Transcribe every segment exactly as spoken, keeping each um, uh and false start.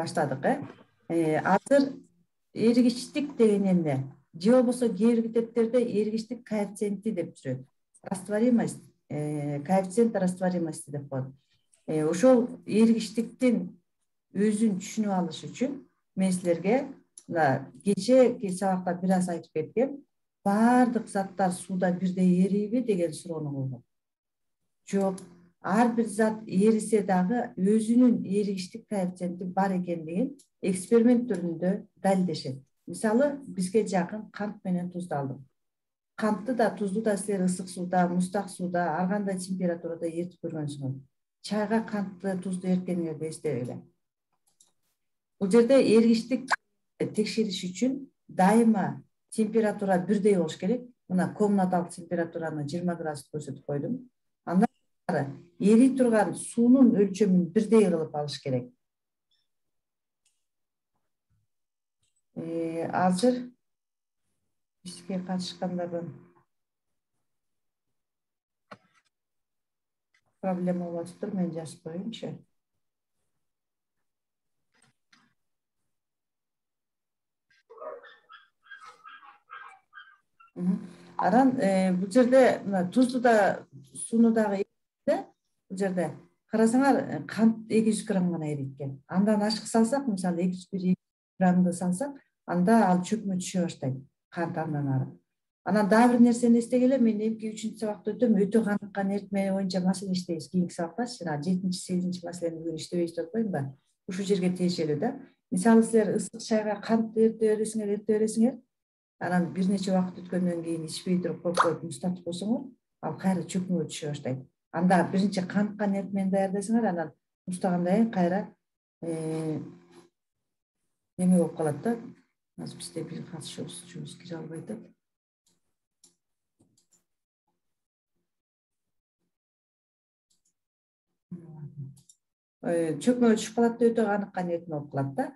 баштадык. Э азыр эргичтик деген эмне? Же болбосо кээ бир китептерде эргичтик коэффициенти деп жүрөт. Растворимость, коэффициент растворимости деп коет. Ошол эргичтиктин өзүн түшүнүп алыш үчүн мен силерге кечээки сабакта бир аз айтып кеткем. Баардык заттар сууда бирдей эрийби деген суроону койгом. Жок, ар бир зат эрисе дагы өзүнүн эригиштик коэффициенти бар экендигин эксперимент түрүндө далилдешет. Мисалы, бизге жакын кант менен тузду алдык. Кантты да, тузду да силер ысык сууда, муздак сууда, ар кандай температурада эритип көргөнсүңөр. Чайга кантты, тузду эрткениңерди эстебегиле. Бул жерде эргичтик текшериш үчүн дайыма температура бирдей болуш керек. Мына комнаталык температураны жыйырма градус көрсөтүп койдум. Андан эрий турган суунун өлчөмүн бирдей кылып алыш керек. Э азыр бизге катышкандардан проблема болуп атыптыр, мен жазып коеюнчу. Анан бул жерде тузду да, сууну дагы эритте. Бул жерде карасаңар, кант эки жүз грамм гана эриткен. Андан ашык салсак, мисалы эки жүз бир граммды салсак, анда ал чөкмө түшө баштайт, кант андан ары. Анан дагы бир нерсени эстегиле, мен эмки үчүнчү сабакта өтөм, өтө каныккан эритме боюнча маселе иштейбиз. Кийинки сабактачы, жана жетинчи, сегизинчи маселени бүгүн иштебейбиз деп атпаймынбы? Ушул жерге тиешелүү да. Мисалы, силер ысык чайга кант эрте бересиңер, эрте бересиңер. Анан бир нече убакыт өткөндөн кийин ичпей туруп коюп коюп муздатып койсоңор, ал кайра чөкмөгө түшө баштайт. Анда биринчи каныккан эритмени даярдайсыңар, анан муздагандан кийин кайра неме болуп калат да. Азыр бизде бир катышуучубуз кире албай атат. Чөкмөгө түшүп калат да, өтө каныккан эритме болуп калат да.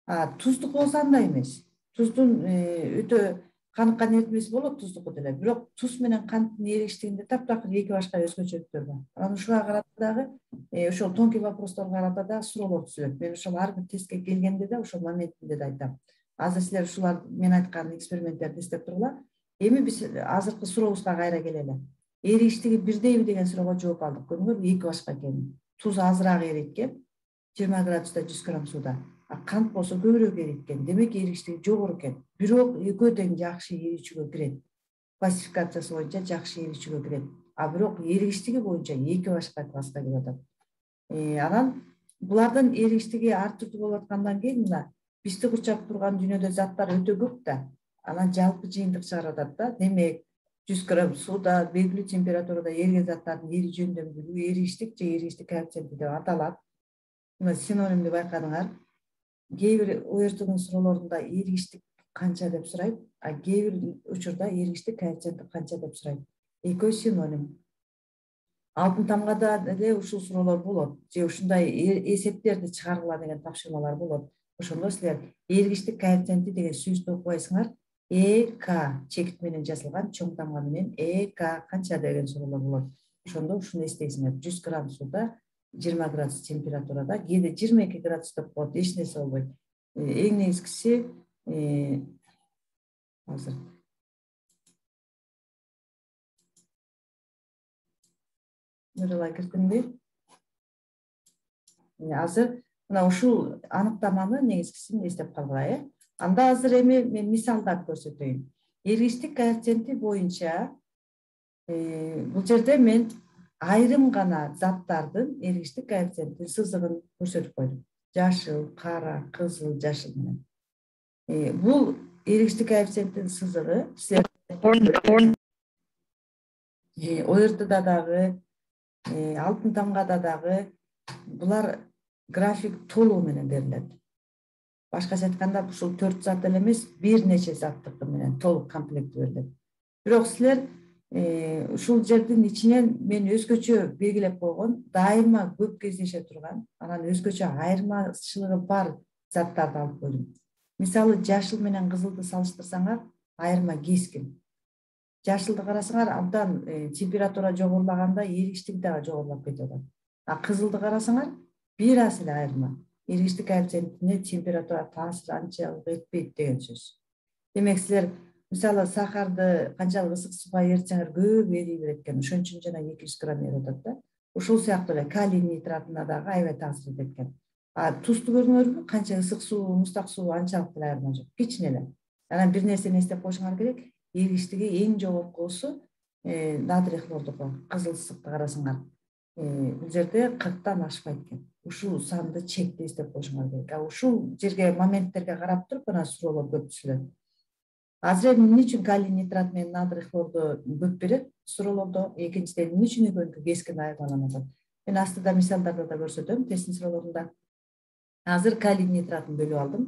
А туздук болсо андай эмес. Туздун өтө каныккан эритмеси болот, туздуку деле. Бирок туз менен канттын эригиштигинде таптакыр эки башка өзгөчөлүктөр бар. Анан ушуга карата дагы, ошол тонкий вопросторго карата дагы суроолор түзүлөт. Мен ошол ар бир тестке келгенде да ошол моментинде да айтам. Азыр силер ушулар мен айткан эксперименттерди эстеп тургула. Эми биз азыркы сурообузга кайра келели. Эригиштиги бирдейби деген суроого жооп алдык. Көрдүңөрбү, эки башка экенин. Туз азыраак эриткен, жыйырма градуста жүз грамм сууда. Кант болсо көбүрөөк эриткен. Демек эригиштиги жогору экен. Бирок экөө тең жакшы эричүүгө кирет. Классификациясы боюнча жакшы эричүүгө кирет. А бирок эригиштиги боюнча эки башка класска кирип атат. Анан булардын эригиштиги ар түрдүү болуп аткандан кийин мына бизди курчап турган дүйнөдө заттар өтө көп да. Анан жалпы жыйынтык чыгарып атат да. Демек, жүз грамм сууда белгилүү температурада эриген заттардын эри жөнүндө билүү эригиштик же эригиштик коэффициенти деп аталат. Мына синонимди байкадыңар. Кээ бир о эр тунун суроолорунда эригиштик канча деп сурайт, а кээ бир учурда эригиштик коэффициенти канча деп сурайт. Экөө синоним. Алтын тамгада деле ушул суроолор болот. Же ушундай эсептерди чыгаргыла деген тапшырмалар болот. Ошондо силер эригиштик коэффициенти деген сөздү окубайсыңар. Э К чекит менен жазылган чоң тамга менен Э К канча деген суроолор болот. Ошондо ушуну эстейсиңер. жүз грамм сууда жыйырма градус температурада, кээде жыйырма эки градус деп коет, эч нерсе болбойт. Эң негизгиси азыр Нуралай кирдимби? Азыр мына ушул аныктаманы негизгисин эстеп калгыла, э? Анда азыр эми мен мисалдап көрсөтөйүн. Эргичтик коэффициенти боюнча бул жерде мен айрым гана заттардын эргичтик коэффициентин сызыгын көрсөтүп койдум. Жашыл, кара, кызыл, жашыл менен. Бул эргичтик коэффициенттин сызыгы силер о эр тда дагы, алтын тамгада дагы булар график толугу менен берилет. Башкача айтканда, ушул төрт зат эле эмес, бир нече заттыкы менен толук комплект берилет. Бирок силер ушул жердин ичинен мен өзгөчө белгилеп койгон, дайыма көп кездеше турган, анан өзгөчө айырмачылыгы бар заттарды алып койдум. Мисалы, жашыл менен кызылды салыштырсаңар, айырма кескин. Жашылды карасаңар, абдан температура жогорулаганда эригиштиги дагы жогорулап кетип атат. А кызылды карасаңар, бир аз эле айырма. эргичтик коэффициентине температура таасир анчалык этпейт деген сөз. Демек силер мисалы сахарды канчалык ысык сууга эритсеңер көп эрий берет экен, ошон үчүн жана эки жүз грамм эрип атат да. Ушул сыяктуу эле калий нитратына дагы аябай таасир этет экен. А тузду көрдүңөрбү? Канча ысык суу, муздак суу анчалык деле айырма жок. Кичине эле. Анан бир нерсени эстеп коюшуңар керек. Эргичтиги эң жогоркусу натрий хлордуку, кызыл ысыкты карасаңар. Бул жерде кырктан ашпайт экен. Ушул санды чекти эстеп коюшуңар керек. А ушул жерге моменттерге карап туруп анан суроолор көп түшүлөт. Азыр эмне үчүн калий нитрат менен натрий хлорду көп берет суроолордо? Экинчиден эмне үчүн экөөнүкү кескин айырмаланып атат? Мен астыда мисалдарды да көрсөтөм тесттин суроолорунда. Азыр калий нитратын бөлүп алдым.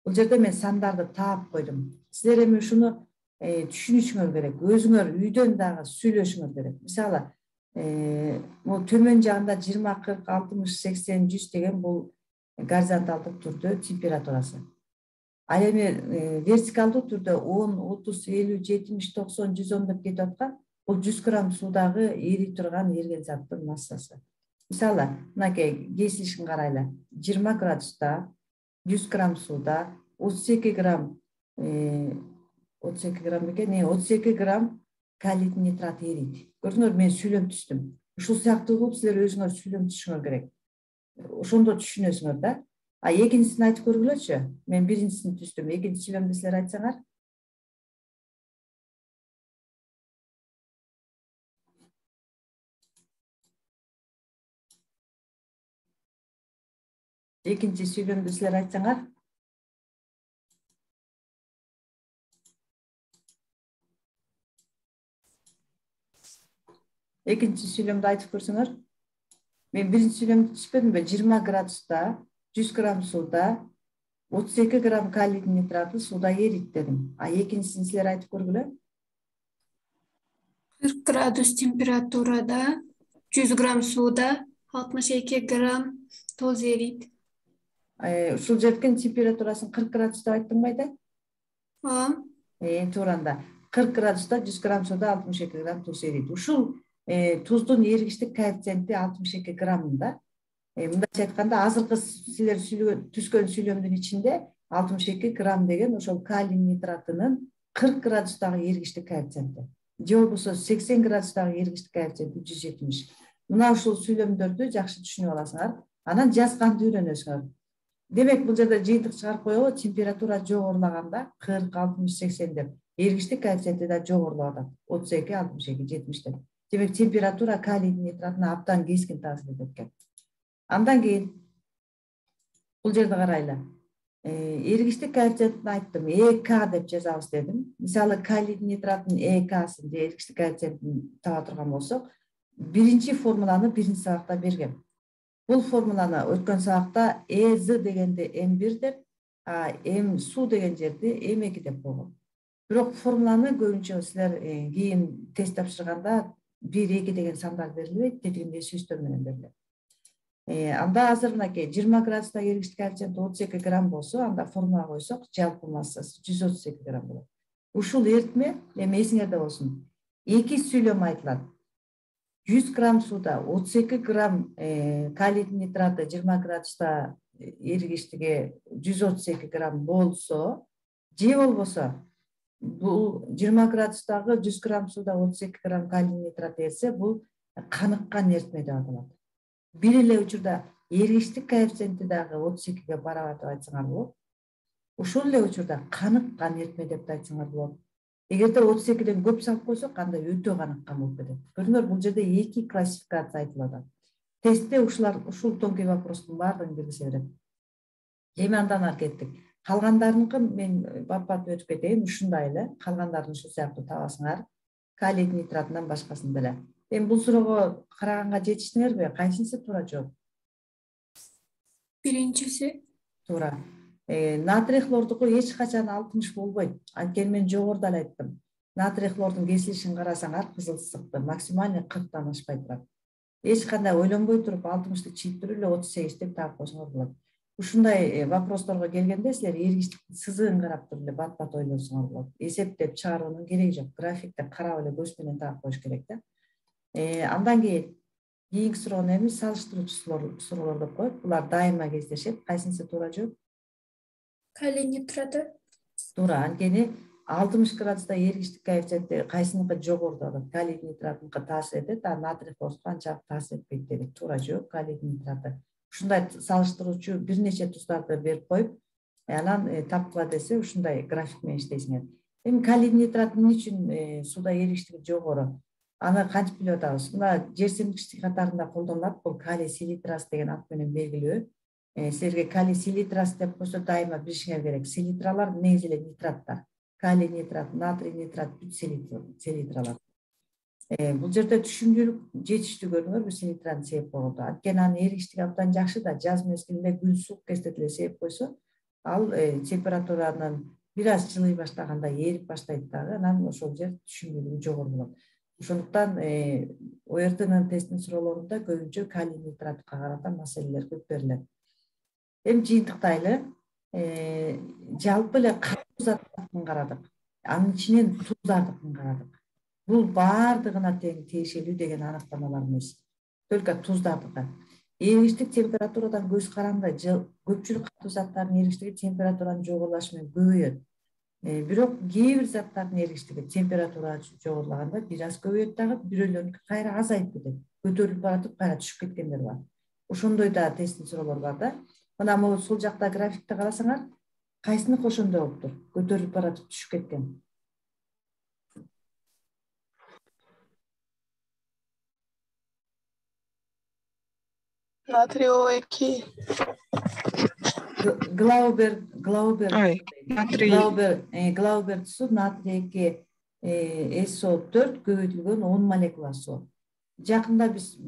Бул жерде мен сандарды таап койдум. Силер эми ушуну түшүнүшүңөр керек. Өзүңөр үйдөн дагы сүйлөшүңөр керек. Мисалы, бул төмөн жагында жыйырма, кырк, алтымыш, сексен, жүз деген бул горизонталдык түрдө температурасы. Ал эми вертикалдуу түрдө он, отуз, элүү, жетимиш, токсон, жүз он деп кетип аткан бул жүз грамм суудагы эрий турган эрген заттын массасы. Мисалы, мынакей кесилишин карайлы. жыйырма градуста, жүз грамм сууда отуз эки грамм отуз эки грамм экен, отуз эки грамм калий нитрат эрийт. Көрдүңөр, мен сүйлөм түздүм. Ушул сыяктуу кылып силер өзүңөр сүйлөм түзүшүңөр керек. Ошондо түшүнөсүңөр да. А экинчисин айтып көргүлөчү. Мен биринчисин түздүм. Экинчи сүйлөмдү силер айтсаңар. Экинчи сүйлөмдү силер айтсаңар. Экинчи сүйлөмдү айтып көрсөңөр. Мен биринчи сүйлөмдү түшпөдүмбү? жыйырма градуста, жүз грамм сууда отуз эки грамм калий нитраты сууда эрийт дедим. А экинчисин силер айтып көргүлө. кырк градус температурада жүз грамм сууда алтымыш эки грамм туз эрийт. Ушул жердин температурасын кырк градус деп айттың байда? Ооба. Э, тууранда кырк градуста жүз грамм сууда алтымыш эки грамм туз эрийт. Ушул туздун эргичтик коэффициенти алтымыш эки грамм да. Мындайча айтканда, азыркы силер түзгөн сүйлөмдүн ичинде алтымыш эки грамм деген ошол калий нитратынын кырк градустагы эргичтик коэффициенти. Же болбосо сексен градустагы эргичтик коэффициенти жүз жетимиш. Мына ушул сүйлөмдөрдү жакшы түшүнүп аласыңар. Анан жазганды үйрөнөсүңөр. Демек, бул жерде жыйынтык чыгарып коелу, температура жогорулаганда кырк, алтымыш, сексен деп эргичтик коэффициенти да жогорулап атат. отуз эки, алтымыш эки, жетимиш деп. Демек, температура калий нитратына абдан кескин таасир этет экен. Андан кийин бул жерди карайлы. Эргичтик коэффициентин айттым, Э К деп жазабыз дедим. Мисалы, калий нитраттын Э Ксын же эргичтик коэффициентин таба турган болсок, биринчи формуланы биринчи сабакта бергем. Бул формуланы өткөн сабакта Э З дегенди эм бир деп, а М суу деген жерди эм эки деп койгом. Бирок формуланы көбүнчө силер кийин тест тапшырганда бир, эки деген сандар берилбейт, тетигинде сүзтөр менен берилет. Анда азыр мынакей жыйырма градуста эргичтик коэффициенти отуз эки грамм болсо, анда формула койсок, жалпы массасы жүз отуз эки грамм болот. Ушул эритме эми эсиңерде болсун. Эки сүйлөм айтылат. жүз грамм сууда отуз эки грамм калий нитраты жыйырма градуста эргичтиги жүз отуз эки грамм болсо, же болбосо бул жыйырма градустагы жүз грамм сууда отуз эки грамм калий нитрат эрсе, бул каныккан эритме деп аталат. Бир эле учурда эргичтик коэффициенти дагы отуз экиге барабар деп айтсаңар болот. Ушул эле учурда каныккан эритме деп да айтсаңар болот. Эгерде отуз экиден көп салып койсок, анда өтө каныккан болуп кетет. Көрдүңөр, бул жерде эки классификация айтылып атат. Тестте ушулар ушул тонкий вопростун баардыгын белгилесе берет. Эми андан ары кеттик. Калгандарыныкын мен бат-бат өтүп кетейин. Ушундай эле, калгандарын ушул сыяктуу табасыңар. Калий нитратынан башкасын деле. Эми бул суроого караганга жетиштиңерби? Кайсынысы туура жооп? Биринчиси. Туура. Натрий хлордуку эч качан алтымыш болбойт. Анткени мен жогоруда эле айттым. Натрий хлордун кесилишин карасаңар, кызыл ысыкты максимальный кырктан ашпай турат. Эч кандай ойлонбой туруп алтымышты чийип эле отуз сегиз деп таап койсоңор болот. Ушундай вопросторго келгенде силер эргичтиктин сызыгын карап туруп эле бат-бат ойлонсоңор болот. Эсептеп чыгаруунун кереги жок. Графикти карап эле көз менен таап коюш керек да. Андан кийин кийинки суроону эми салыштыруучу суроолор деп коет. Булар дайыма кездешет. Кайсынысы туура жооп? Калий нитраты. Туура. Анткени алтымыш градуста эргичтик коэффициенти кайсыныкы жогору болот? Калий нитратыныкы таасир этет, а натрий хлордуку анчалык таасир этпейт дедик. Туура жооп калий нитраты. Ушундай салыштыруучу бир нече туздарды берип коюп, анан тапкыла десе ушундай график менен иштейсиңер. Эми калий нитрат эмне үчүн сууда эргичтиги жогору? Аны кантип билип атабыз? Мына жер семиргичтик катарында колдонулат. Бул калий селитрасы деген ат менен белгилүү. Силерге калий селитрасы деп койсо дайыма билишиңер керек. Селитралар негизи эле нитраттар. Калий нитрат, натрий нитрат бүт селитралар. Бул жерде түшүмдүүлүк жетиштүү көрдүңөрбү селитраны себеп болду. Анткени анын эргичтиги абдан жакшы да, жаз мезгилинде күн суук кезде деле себеп койсо, ал температуранын бир аз жылый баштаганда эрип баштайт дагы, анан ошол жер түшүмдүүлүгү жогору болот. Ошондуктан о эр тэ-нын тесттин суроолорунда көбүнчө калий нитратка карата маселелер көп берилет. Эми жыйынтыктайлы, жалпы эле катуу заттардын карадык. Анын ичинен туздардыкын карадык. Бул баардыгына тең тиешелүү деген аныктамалар эмес. Только туздардыкы. Эргичтик температурадан көз каранды, көпчүлүк катуу заттардын эргичтиги температуранын жогорулашы менен көбөйөт. Бирок кээ бир заттардын эргичтиги температура жогорулаганда бир аз көбөйөт дагы, бирөөлөрүнүкү кайра азайып кетет. Көтөрүлүп баратып кайра түшүп кеткендер бар. Ошондой да тесттин суроолору бар да. Мына могу сол жакта графикте карасаңар, кайсыныкы ошондой болуптур? Көтөрүлүп баратып түшүп кеткен. Натрий О эки. Глаубер, Глаубер, Натрий. Глаубер, Глаубер суу натрий эки эс о төрт көбөйтүлгөн он молекула суу. Жакында биз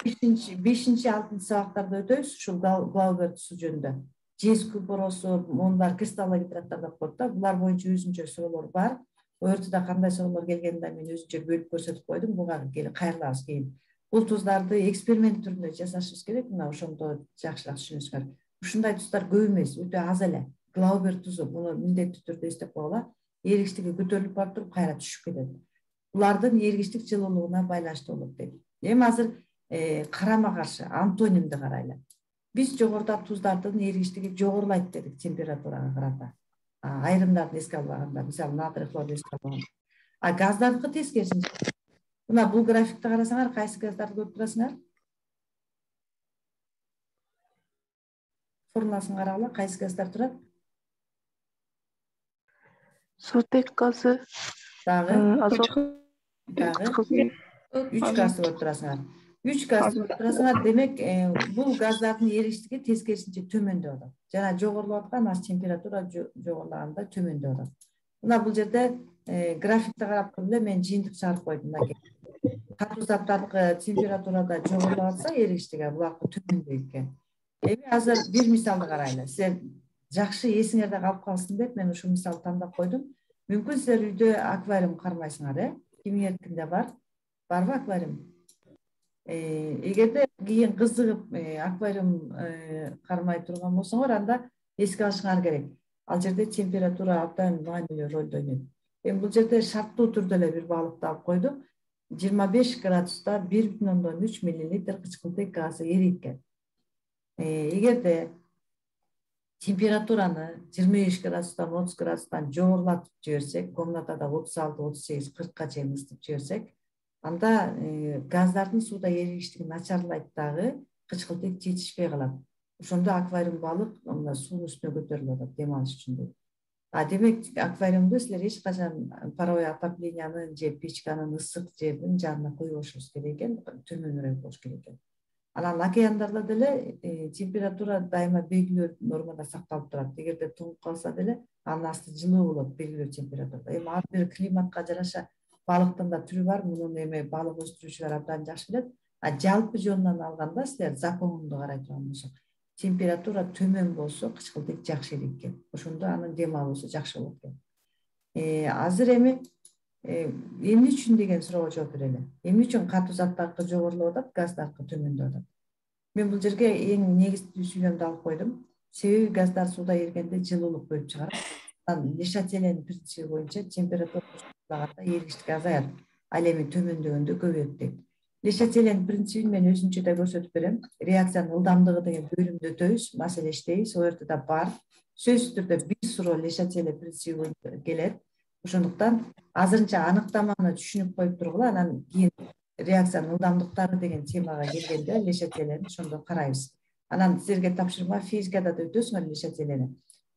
бешинчи алтынчы сабактарда өтөбүз ушул Глаубер суу жөнүндө. Жез купоросу, мондар кристаллы гидраттар деп коет да. Булар боюнча өзүнчө суроолор бар. О эр тэ-да кандай суроолор келгенин мен өзүнчө бөлүп көрсөтүп койдум. Буга кайрылабыз кийин. Бул туздарды эксперимент түрүндө жасашыбыз керек. Мына ошондо жакшыраак түшүнүңүздөр. Ушундай туздар көп эмес, өтө аз эле. Глаубер тузу, муну миндеттүү түрдө эстеп койгула. Эргичтиги көтөрүлүп барып туруп кайра түшүп кетет. Булардын эргичтик жылуулугуна байланыштуу болот дейт. Эми азыр карама каршы антонимди карайлы. Биз жогоруда туздардын эргичтиги жогорулайт дедик температурага карата. Айрымдарды эске албаганда, мисалы натрий хлорду эске албаганда. А газдардыкы тескерисинче. Мына бул графикте карасаңар, кайсы газдарды көрүп турасыңар? Формуласын карагыла, кайсы газдар турат? Сутек газы. Дагы, азот. Дагы. Үч газды көрүп турасыңар. Үч газды көрүп турасыңар. Демек, бул газдардын эргичтиги тескерисинче төмөндөп атат. Жана жогорулап аткан, аз температура жогорулаганда төмөндөп атат. Мына бул жерде графикте карап туруп эле мен жыйынтык чыгарып койдум мына. Катуу заттардыкы температурада жогорулап атса эргичтиги булакы төмөндөйт экен. Эми азыр бир мисалды карайлы. Силер жакшы эсиңерде калып калсын деп мен ушул мисалды тандап койдум. Мүмкүн силер үйдө аквариум кармайсыңар, э? Кимиңердикинде бар? Барбы аквариум? Эгерде кийин кызыгып аквариум кармай турган болсоңор, анда эске алышыңар керек. Ал жерде температура абдан маанилүү ролду ойнойт. Эми бул жерде шарттуу түрдө эле бир балыкты алып койдук. жыйырма беш градуста бир бүтүн ондон үч миллилитр кычкылтек газы эрийт экен. Эгерде температураны жыйырма беш градустан отуз градустан жогорулатып жиберсек, комнатада отуз алты отуз сегиз кыркка чейин ысытып жиберсек, анда газдардын сууда эригиштиги начарлайт дагы, кычкылтек жетишпей калат. Ошондо аквариум балык мына суунун үстүнө көтөрүлүп атат дем алыш үчүн. А демек аквариумду силер эч качан паровой отопленияны же печканын ысык жердин жанына койбошуңуз керек экен, төмөнүрөөк болуш керек экен. Анан океандарда деле температура дайыма белгилүү нормада сакталып турат. Эгерде тоңуп калса деле анын асты жылуу болот белгилүү температурада. Эми ар бир климатка жараша балыктын да түрү бар. Мунун эми балык өстүрүүчүлөр абдан жакшы билет. А жалпы жөнүнөн алганда силер законунду карай турган болсок, температура төмөн болсо кычкылтек жакшы эрийт экен. Ошондо анын дем алуусу жакшы болот экен. Азыр эми эмне үчүн деген суроого жооп берели. Эмне үчүн катуу заттардыкы жогорулап атат, газдардыкы төмөндөп атат? Мен бул жерге эң негизги сүйлөмдү алып койдум. Себеби газдар сууда эригенде жылуулук бөлүп чыгарат. Анан Le Chatelet'in принципи боюнча температура жогорулаганда эригиштик азаят, ал эми төмөндөгөндө көбөйөт дейт. Лешателен принцибин мен өзүнчө да көрсөтүп берем. Реакциянын ылдамдыгы деген бөлүмдү өтөбүз, маселе иштейбиз, ал жерде да бар. Сөзсүз түрдө бир суроо Лешателе принциби келет. Ошондуктан азырынча аныктаманы түшүнүп коюп тургула, анан кийин реакциянын ылдамдыктары деген темага келгенде Лешателени ошондо карайбыз. Анан силерге тапшырма физикада да өтөсүңөр Лешателени.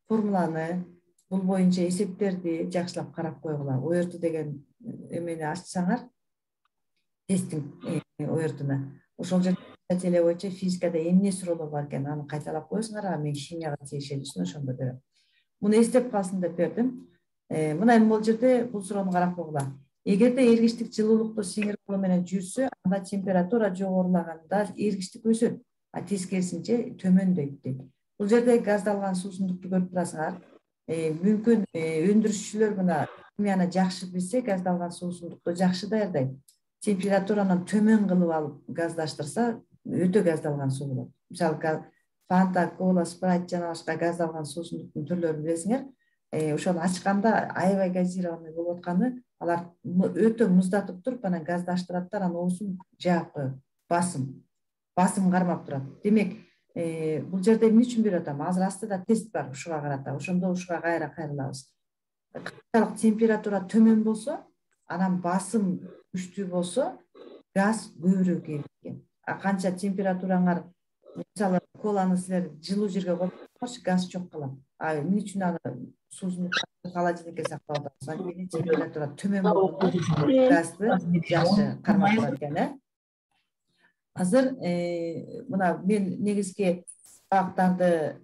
Формуланы, бул боюнча эсептерди жакшылап карап койгула. О жерде деген эмени ачсаңар, тесттин оертуна. Ошол жерде Лешателе боюнча физикада эмне суроолор бар экен, аны кайталап коесуңар, а мен химияга тиешелүүсүн ошондо берем. Муну эстеп калсын деп бердим. Мына эми бул жерде бул суроону карап койгула. Эгерде эргичтик жылуулукту сиңирип алуу менен жүрсө, анда температура жогорулаганда эргичтик өсөт, а тескерисинче төмөндөйт дейт. Бул жерде газдалган суусундукту көрүп турасыңар. Мүмкүн өндүрүшчүлөр мына химияны жакшы билсе, газдалган суусундукту жакшы даярдайт. Температураны төмөн кылып алып газдаштырса, өтө газдалган суу болот. Мисалы, Фанта, Кола, Спрайт жана башка газдалган суусундуктун түрлөрүн билесиңер. Ошону ачканда аябай газированный болуп атканы, алар өтө муздатып туруп, анан газдаштыраттар, анан оозун жаап коет. Басым, басым кармап турат. Демек, бул жерде эмне үчүн берип атам? Азыр астыда тест бар ушуга карата. Ошондо ушуга кайра кайрылабыз. Канчалык температура төмөн болсо, анан басым күчтүү болсо, газ көбүрөөк эриткен. А канча температураңар, мисалы, коланы силер жылуу жерге коюп, газ чок калат. А эмне үчүн аны суусундукту холодильникке сактап атабыз? Анткени температура төмөн болгондо газды жакшы кармап турат экен, э? Азыр мына мен негизги сабактарды,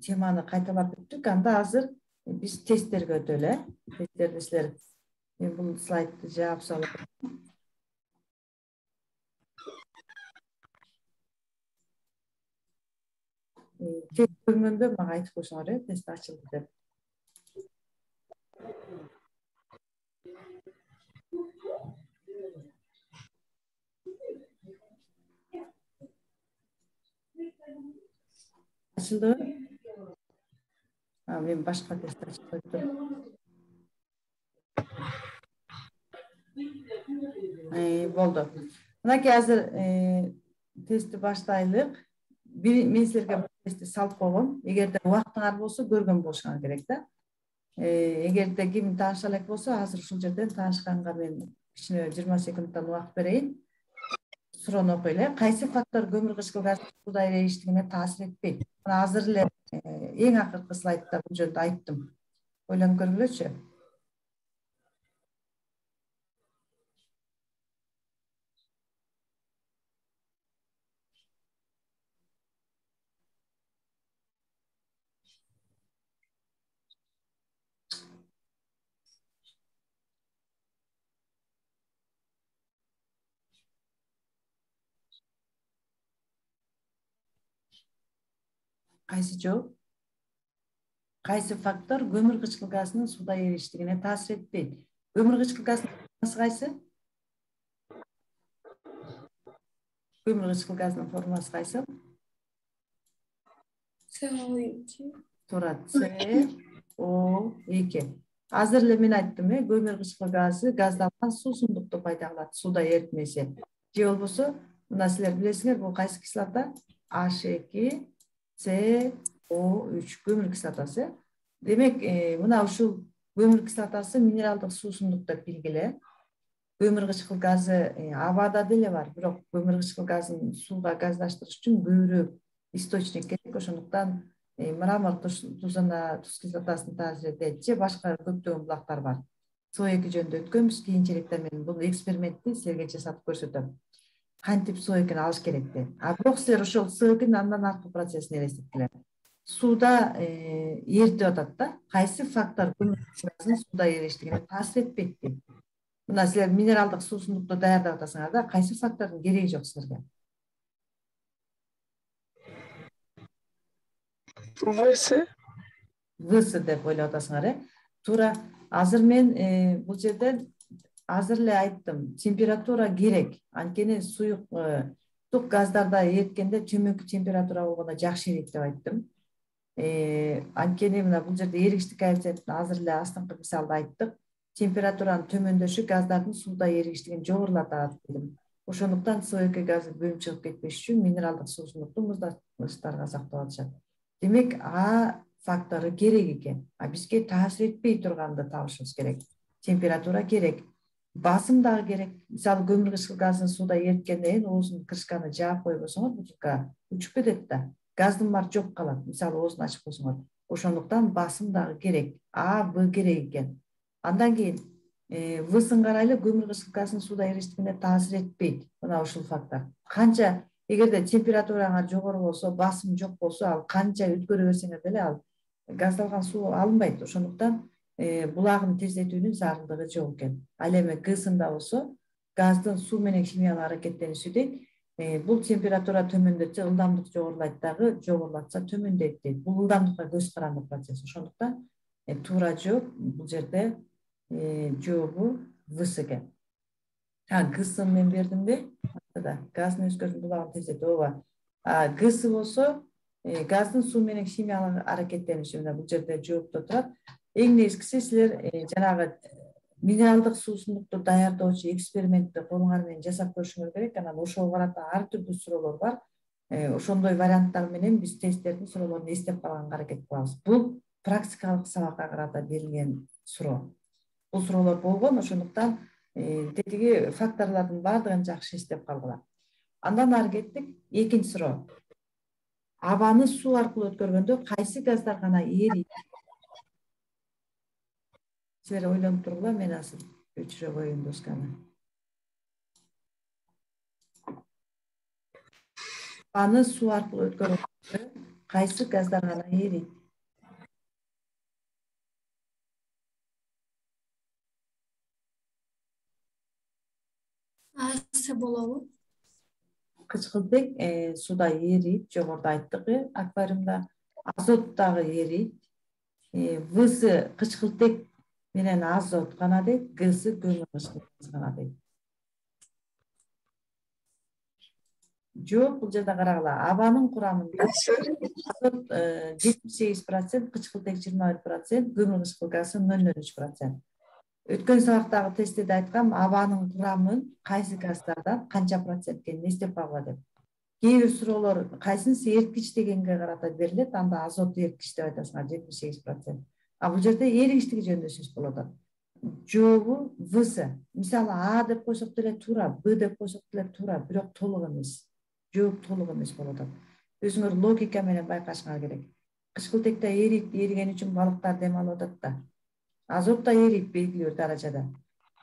теманы кайталап өттүк. Анда азыр биз тесттерге өтөлү, э? Тесттерди силер, мен бул слайдты жаап салып. Тест көргөндө мага айтып койсоңор, э, тест ачылды деп. Ачылдыбы? А, мен башка тест ачып коюптум. Болду. Мынакей азыр тестти баштайлык. Мен силерге тестти салып койгом. Эгерде убактыңар болсо көргөн болушуңар керек да. Эгерде ким тааныша элек болсо, азыр ушул жерден таанышканга мен кичине жыйырма секундтан убакыт берейин. Суроону окуйлу. Кайсы фактор көмүр кычкыл газдын сууда эрийиштигине таасир этпейт? Мына азыр эле эң акыркы слайдта бул жөнүндө айттым. Ойлонуп көргүлөчү. Кайсы жооп? Кайсы фактор көмүр кычкыл газынын сууда эрийиштигине таасир этпейт? Көмүр кычкыл газынын формуласы кайсы? Көмүр кычкыл газынын формуласы кайсы? С О эки. Туура, С О эки. Азыр эле мен айттым, э, көмүр кычкыл газы газдалган суусундукту пайда кылат, сууда эритмесе. Же болбосо, мына силер билесиңер, бул кайсы кислота? H эки С О үч көмүр кислотасы. Демек, мына ушул көмүр кислотасы минералдык суусундук деп билгиле. Көмүр кычкыл газы абада деле бар, бирок көмүр кычкыл газын сууда газдаштырыш үчүн көбүрөөк источник керек. Ошондуктан мрамор тузуна туз кислотасын таасир этет же башка көптөгөн булактар бар. С О эки жөнүндө өткөнбүз, кийинчерээкте мен бул экспериментти силерге жасатып көрсөтөм. Кантип С О экини алыш керек деп. А бирок силер ошол С О экинин андан аркы процессин элестеткиле. Сууда эритип атат да. Кайсы фактор көмүр газынын сууда эрийиштигине таасир этпейт дейт. Мына силер минералдык суусундукту даярдап атасыңар да, кайсы фактордун кереги жок силерге? В С. В С деп ойлоп атасыңар, э? Туура. Азыр мен бул жерден азыр эле айттым, температура керек. Анткени суюк тук газдарда эриткенде төмөнкү температура болгондо жакшы эрийт деп айттым. Анткени мына бул жерде эригиштик коэффициентин азыр эле астыңкы мисалда айттык. Температуранын төмөндөшү газдардын сууда эригиштигин жогорулатат дедим. Ошондуктан С O эки газы бөлүнүп чыгып кетпеш үчүн минералдык суусундукту муздаткычтарга сактап атышат. Демек А фактору керек экен. А бизге таасир этпей турганды табышыбыз керек. Температура керек, басым дагы керек. Мисалы көмүр кычкыл газын сууда эриткенден кийин оозунун крышканы жаап койбосоңор бутылка учуп кетет да. Газдын баары жоп калат. Мисалы оозун ачып койсоңор. Ошондуктан басым дагы керек. А, Б керек экен. Андан кийин Всын карайлы көмүр кычкыл газынын сууда эриштигине таасир этпейт. Мына ушул фактор. Канча эгерде температураңар жогору болсо, басым жок болсо, ал канча өткөрө берсеңер деле ал газдалган суу алынбайт. Ошондуктан булагын тездетүүнүн зарылдыгы жок экен. Ал эми Гсында болсо, газдын суу менен химиялык аракеттениши дейт. Бул температура төмөндөтсө ылдамдык жогорулайт дагы, жогорулатса төмөндөйт дейт. Бул ылдамдыкка көз каранды процесс. Ошондуктан туура жооп бул жерде жообу Вс экен. А Гсын мен бердимби? Газдын өзгөрүүнүн булагын тездетүү. Ооба. А Гс болсо, газдын суу менен химиялык аракеттениши. Мына бул жерде жоопто турат. Эң негизгиси силер жанагы минералдык суусундукту даярдоочу экспериментти колуңар менен жасап көрүшүңөр керек. Анан ошого карата ар түрдүү суроолор бар. Ошондой варианттар менен биз тесттердин суроолорун эстеп калганга аракет кылабыз. Бул практикалык сабакка карата берилген суроо. Бул суроолор болгон, ошондуктан тетиги факторлордун баардыгын жакшы эстеп калгыла. Андан ары кеттик. Экинчи суроо. Абаны суу аркылуу өткөргөндө кайсы газдар гана эрийт? Силер ойлонуп тургула, мен азыр өчүрө коеюн досканы. Абаны суу аркылуу өткөргөндө кайсы газдар гана эрийт? Асы болобу? Кычкылтек сууда эрийт, жогоруда айттык, аквариумда. Азот дагы эрийт. Вс кычкылтек менен азот гана дейт, Гс көмүр кычкыл газ гана дейт. Жооп бул жерде карагыла. Абанын курамында азот жетимиш сегиз процент, кычкылтек жыйырма бир процент, көмүр кычкыл газы нөл нөл үч процент. Өткөн сабактагы тестте да айткам, абанын курамын кайсы газдардан канча процент экенин эстеп калгыла деп. Кээ бир суроолор кайсынысы эрткич дегенге карата берилет, анда азот эрткич деп айтасыңар жетимиш сегиз процент. А бул жерде эригиштиги жөнүндө сөз болуп атат. Жообу Вс. Мисалы А деп койсок деле туура, Б деп койсок деле туура, бирок толук эмес. Жооп толук эмес болуп атат. Өзүңөр логика менен байкашыңар керек. Кычкылтекте эрийт, эриген үчүн балыктар дем алып атат да. Азот да эрийт белгилүү даражада.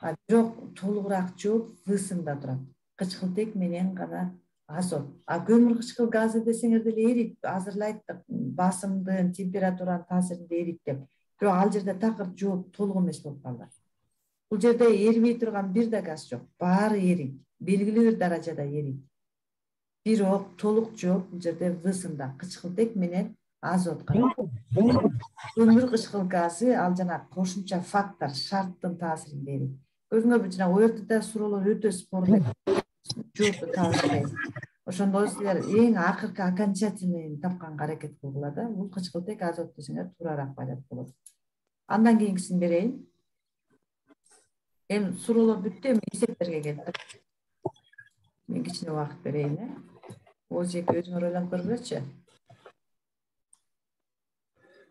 А бирок толугураак жооп Всында турат. Кычкылтек менен гана азот. А көмүр кычкыл газы десеңер деле эрийт. Азыр эле айттык, басымдын, температуранын таасиринде эрийт деп. Бирок ал жерде такыр жооп толук эмес болуп калды. Бул жерде эрибей турган бир да газ жок. Баары эрийт. Белгилүү бир даражада эрийт. Бирок толук жооп бул жерде Всында. Кычкылтек менен азот гана. Көмүр кычкыл газы ал жана кошумча фактор, шарттын таасиринде эрийт. Көрдүңөрбү, жана ортодо суроолор өтө спорлуу. Жоопту таасирде. Ошондо силер эң акыркы окончательный тапканга аракет кылгыла да. Бул кычкылтек азот десеңер туурараак байлап болот. Андан кийинкисин берейин. Эми суроолор бүттү, эми эсептерге келдик. Мен кичине убакыт берейин, э. Озеки өзүңөр ойлонуп көргүлөчү.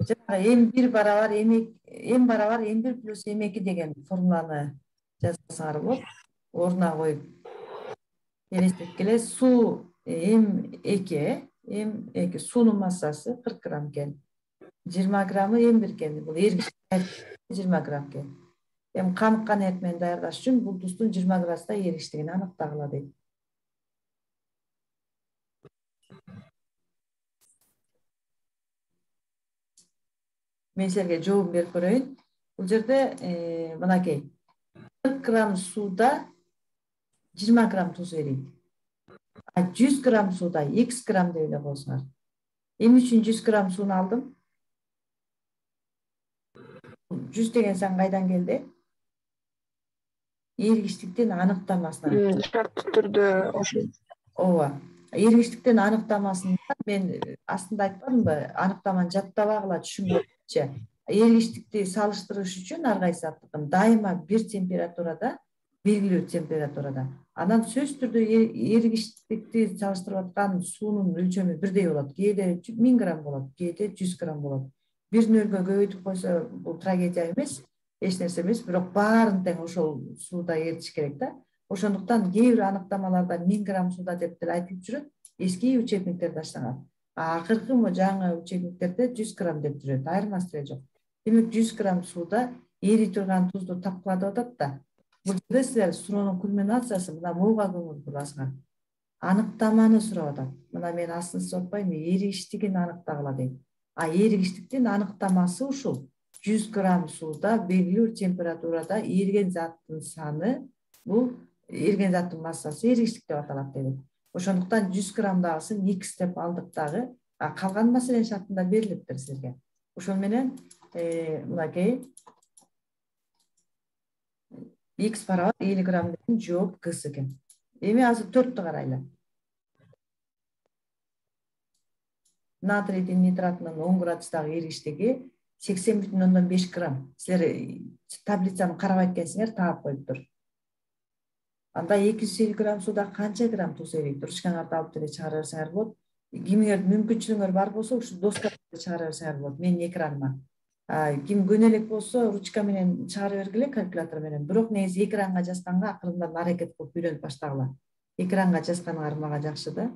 Жанагы эм бир барабар эм барабар эм бир плюс эм эки деген формуланы жазсаңар болот. Ордуна коюп элестеткиле. Суу эм эки, эм эки суунун массасы кырк грамм экен. жыйырма граммы эм бир экен. Бул эргич жыйырма грамм экен. Эми каныккан эрит менен даярдаш үчүн бул тустун жыйырма градуста эригиштигин аныктагыла дейт. Мен силерге жообун берип көрөйүн. Бул жерде мынакей кырк грамм сууда жыйырма грамм туз эрийт. А жүз грамм сууда X грамм деп эле коесуңар. Эмне үчүн жүз грамм сууну алдым? жүз деген сан кайдан келди? Эригиштиктин аныктамасынан. Шарттуу түрдө ошол. Ооба. Эригиштиктин аныктамасында мен астында айтпадымбы? Аныктаманы жаттабагыла түшүнгөнчө. Эригиштикти салыштырыш үчүн ар кайсы аттыкын дайыма бир температурада белгилүү температурада. Анан сөзсүз түрдө эригиштикти салыштырып аткан суунун өлчөмү бирдей болот. Кээде миң грамм болот, кээде жүз грамм болот. Бир нөлгө көбөйтүп койсо бул трагедия эмес, эч нерсе эмес, бирок баарын тең ошол сууда эритиш керек да. Ошондуктан кээ бир аныктамаларда миң грамм сууда деп деле айтылып жүрөт, эски учебниктер таштанган. А акыркы жаңы учебниктерде жүз грамм деп жүрөт, айырмасы деле жок. Демек жүз грамм сууда эри турган тузду тапкыла деп атат да. Бул жерде силер суроонун кульминациясы мына буга көңүл бурасыңар. Аныктаманы сурап атат. Мына мен асын сотпойм, эригиштигин аныктагыла дейт. А эригиштиктин аныктамасы ушул. жүз грамм сууда белгилүү температурада эриген заттын саны, бул эриген заттын массасы эригиштик деп аталат деди. Ошондуктан жүз граммдагысын X деп алдык дагы, а калган маселенин шартында берилиптир силерге. Ошол менен мынакей X барабар элүү грамм деген жооп Гс экен. Эми азыр төрттү карайлы. Натрийдин нитратынын он градустагы эригиштиги сексен бүтүн ондон беш грамм. Силер таблицаны карабайт экенсиңер, таап коюптур. Анда эки жүз элүү грамм сууда канча грамм туз эрийт? Ручкаңарды алып деле чыгара берсеңер болот. Кимиңер мүмкүнчүлүгүңөр бар болсо, ушу досканы чыгара берсеңер болот. Менин экраныма. Ким көнө элек болсо, ручка менен чыгара бергиле, калькулятор менен. Бирок негизи экранга жазганга акырындан аракет кылып үйрөнүп баштагыла. Экранга жазганыңар мага жакшы да.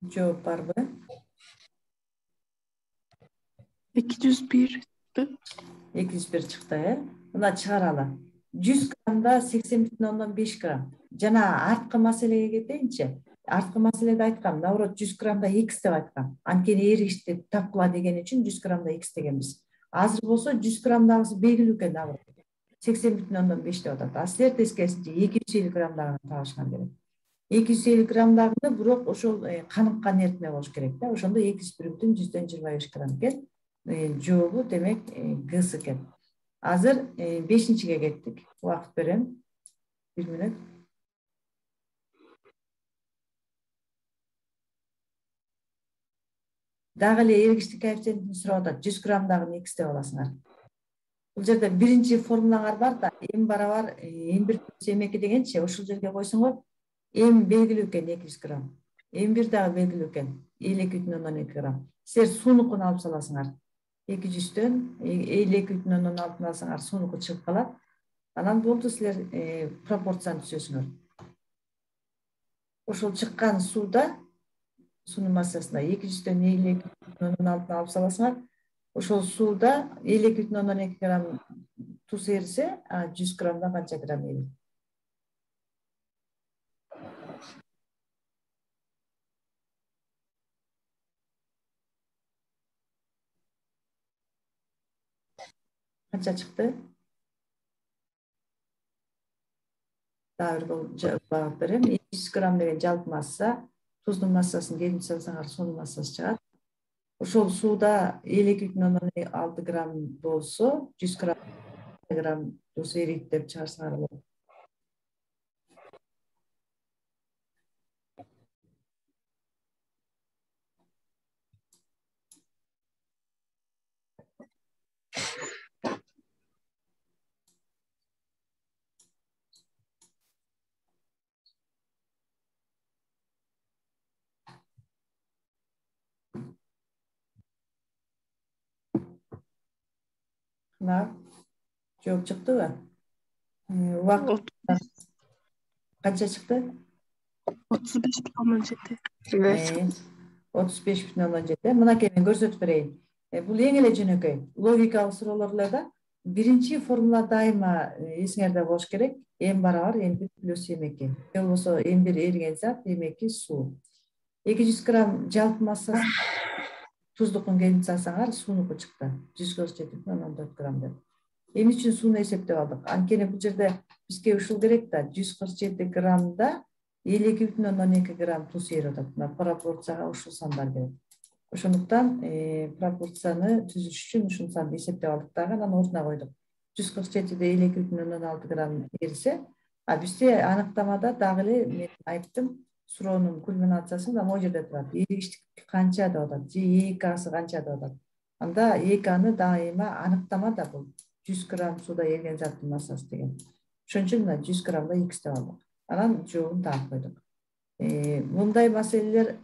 Жооп барбы? эки жүз бир. эки жүз бир чыкты, э? Мына чыгаралы. жүз граммда сексен бүтүн ондон беш грамм. Жана арткы маселеге кетейинчи. Арткы маселеде айткам, наоборот жүз граммда X деп айткам. Анткени эригишти тапкыла деген үчүн жүз граммда X дегенбиз. Азыр болсо жүз граммдагысы белгилүү экен, наоборот. сексен бүтүн ондон беш деп атат. А силер тескерисинче эки жүз элүү граммдагын табышкан керек. эки жүз элүү граммдагы бирок ошол каныккан эритме болуш керек да. Ошондо эки жүз бир бүтүн жүздөн жыйырма беш грамм экен. Жообу демек Гс экен. Азыр бешинчиге кеттик. Убакыт берем. бир мүнөт. Дагы эле эригиштик коэффициентин сурап атат. жүз граммдагын X деп аласыңар. Бул жерде биринчи формулаңар бар да, m барабар m бир плюс m эки дегенчи, ошол жерге койсоңор, m белгилүү экен эки жүз грамм. m бир дагы белгилүү экен элүү эки бүтүн ондон эки грамм. Силер суунукун алып саласыңар. эки жүздөн элүү эки бүтүн ондон алтын алсаңар суунуку чыгып калат. Анан болду, силер пропорцияны түзөсүңөр. Ошол чыккан сууда, суунун массасына эки жүздөн элүү эки бүтүн ондон алтын алып саласыңар. Ошол сууда элүү эки бүтүн ондон эки грамм туз эрисе, жүз граммда канча грамм эрийт? Канча чыкты? Дагы бир жаап берем. эки жүз грамм деген жалпы масса, туздун массасын келип салсаңар, суунун массасы чыгат. Ошол сууда элүү эки бүтүн ондон алты грамм болсо, жүз грамм туз эрийт деп чыгарсаңар болот. Мына жооп чыктыбы? Убакыт канча чыкты? отуз беш бүтүн ондон жети. отуз беш бүтүн ондон жети. Мынакей мен көрсөтүп берейин. Бул эң эле жөнөкөй. Логикалык суроолор эле да. Биринчи формула дайыма эсиңерде болуш керек. m барабар m бир плюс m эки. Же болбосо m бир эриген зат, m эки суу. эки жүз грамм жалпы массасы туздукун келип салсаңар, суунуку чыкты. жүз кырк жети бүтүн ондон төрт грамм деп. Эмне үчүн сууну эсептеп алдык? Анткени бул жерде бизге ушул керек да, жүз кырк жети граммда элүү эки бүтүн ондон эки грамм туз эрип атат. Мына пропорцияга ушул сандар керек. Ошондуктан пропорцияны түзүш үчүн ушул санды эсептеп алдык дагы, анан ордуна койдук. жүз кырк жетиде элүү эки бүтүн ондон алты грамм берсе, а бизде аныктамада дагы эле мен айттым, суроонун кульминациясында могу жерде турат. Эргиштик канча деп атат, же ЭКасы канча деп атат. Анда ЭКаны дайыма аныктамада бул жүз грамм сууда эрген заттын массасы деген. Ошон үчүн мына жүз граммда X деп алдык. Анан жообун таап койдук. Мындай маселелер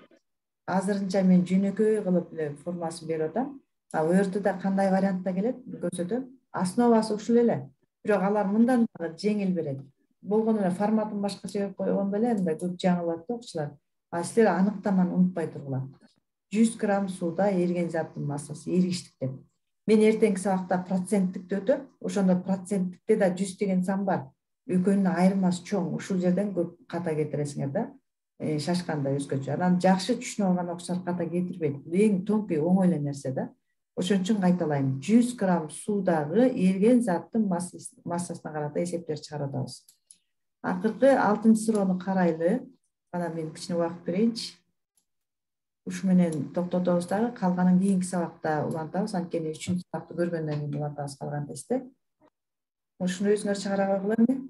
азырынча мен жөнөкөй кылып эле формасын берип атам. А у жерде да кандай вариантта келет көрсөтөм. Основасы ушул эле. Бирок алар мындан дагы жеңил берет. Болгону эле форматын башкача берип койгондо эле мындай көп жаңылат да окуучулар. А силер аныктаманы унутпай тургула. жүз грамм сууда эрген заттын массасы эргиштик деп. Мен эртеңки сабакта проценттикти өтөм. Ошондо проценттикте да жүз деген сан бар. Экөөнүн айырмасы чоң. Ушул жерден көп ката кетиресиңер да. Шашканда өзгөчө. Анан жакшы түшүнүп алган окуучулар ката кетирбейт. Бул эң тонкий оңой эле нерсе да. Ошон үчүн кайталайм. жүз грамм суудагы эрген заттын массасына карата эсептер чыгарып атабыз. Акыркы алтынчы суроону карайлы. Анан мен кичине убакыт берейинчи. Ушу менен токтотобуз дагы, калганын кийинки сабакта улантабыз. Анткени үчүнчү сабакты көргөндөн кийин улантабыз калган тестти. Ушуну өзүңөр чыгара койгула эмне?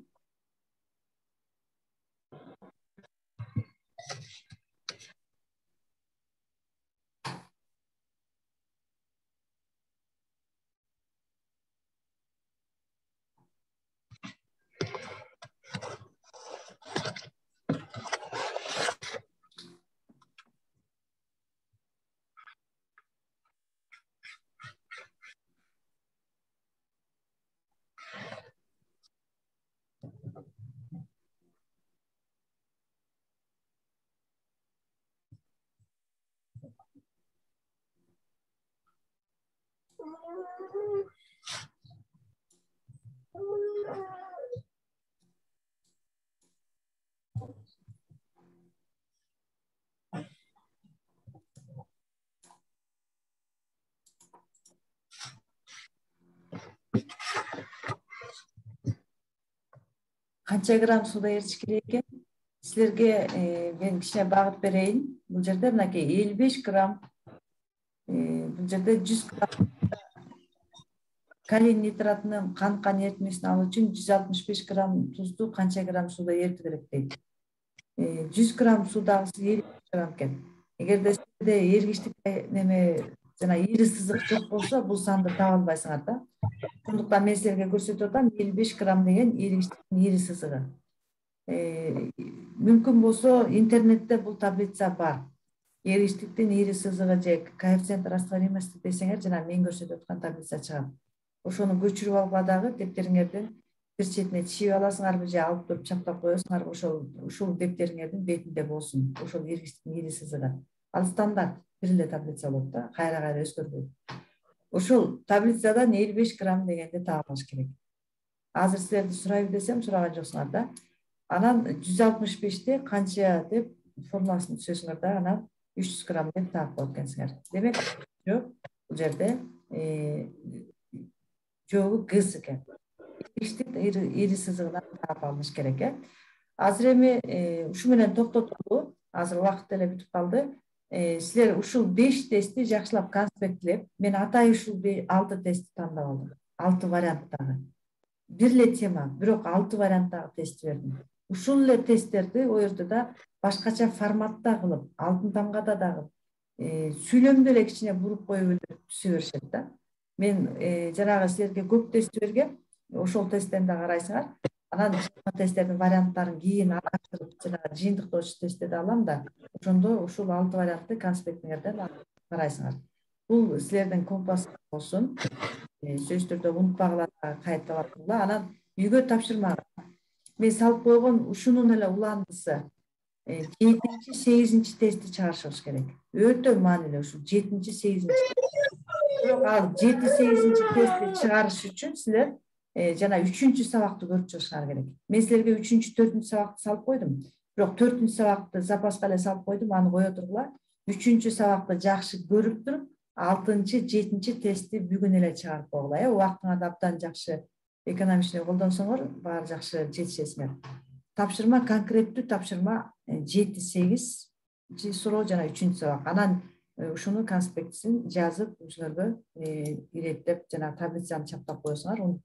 Канча грамм сууда эритиш керек экен? Силерге мен кичине багыт берейин. Бул жерде мынакей элүү беш грамм, бул жерде жүз грамм калий нитратынын канткан эритмесин алуу үчүн жүз алтымыш беш грамм тузду канча грамм сууда эритүү керек дейт. жүз грамм суудагысы элүү беш грамм экен. Эгерде силерде эргиштик неме жана ири сызык жок болсо, бул санды таба албайсыңар да. Ошондуктан мен силерге көрсөтүп атам, элүү беш грамм деген эргиштиктин ири сызыгы. Мүмкүн болсо интернетте бул таблица бар. Эргиштиктин ири сызыгы же коэффициент растворимости десеңер, жана мен көрсөтүп аткан таблица чыгат. Ошону көчүрүп алгыла дагы дептериңердин бир четине чийип аласыңарбы же алып туруп чаптап коесуңарбы, ошол ушул дептериңердин бетинде болсун. Ошол эргиштиктин ири сызыгы. Ал стандарт бир эле таблица болот да, кайра-кайра өзгөрбөйт. Ошол таблицадан элүү беш грамм дегенди таап алыш керек. Азыр силерди сурайбы десем, сураган жоксуңар да. Анан жүз алтымыш бешти канча деп формуласын түзөсүңөр да, анан үч жүз грамм деп таап коет экенсиңер. Демек, бул жерде жообу гыс экен. Эргиштик ири сызыгынан таап алыш керек э. Азыр эми ушу менен токтотолу. Азыр убакыт деле бүтүп калды. Силер ушул беш тестти жакшылап конспекттелеп, мен атай ушул алты тестти тандап алдым. алты варианттагы. Бир эле тема, бирок алты варианттагы тестти бердим. Ушул эле тесттерди о жерде да башкача форматта кылып, алтын тамгада дагы сүйлөмдү эле кичине буруп коюп эле түзө беришет да. Мен жанагы силерге көп тестти бергем. Ошол тесттен да карайсыңар. Анан тесттердин варианттарын кийин араштырып, жанагы жыйынтыктоочу тестти алам да, ошондо ушул алты вариантты конспектиңерден карайсыңар. Бул силердин компас болсун. Сөзсүз түрдө унутпагыла, кайталап тургула. Анан үйгө тапшырма. Мен салып койгон ушунун эле уландысы жетинчи, сегизинчи тестти чыгарышыбыз керек. Өтө маанилүү ушул жетинчи, сегизинчи. Бирок ал жети, сегизинчи тестти чыгарыш үчүн силер жана үчүнчү сабакты көрүп чыгышыңар керек. Мен силерге үчүнчү, төртүнчү сабакты салып койдум. Бирок төртүнчү сабакты запаска эле салып койдум, аны кое тургула. Үчүнчү сабакты жакшы көрүп туруп, алтынчы, жетинчи тестти бүгүн эле чыгарып койгула. Э, убактыңарды абдан жакшы экономичный колдонсоңор, баары жакшы жетишесиңер. Тапшырма конкреттүү тапшырма жети, сегизинчи суроо жана үчүнчү сабак. Анан ушуну конспектисин жазып өзүңөргө иреттеп жана таблицаны чаптап коесуңар.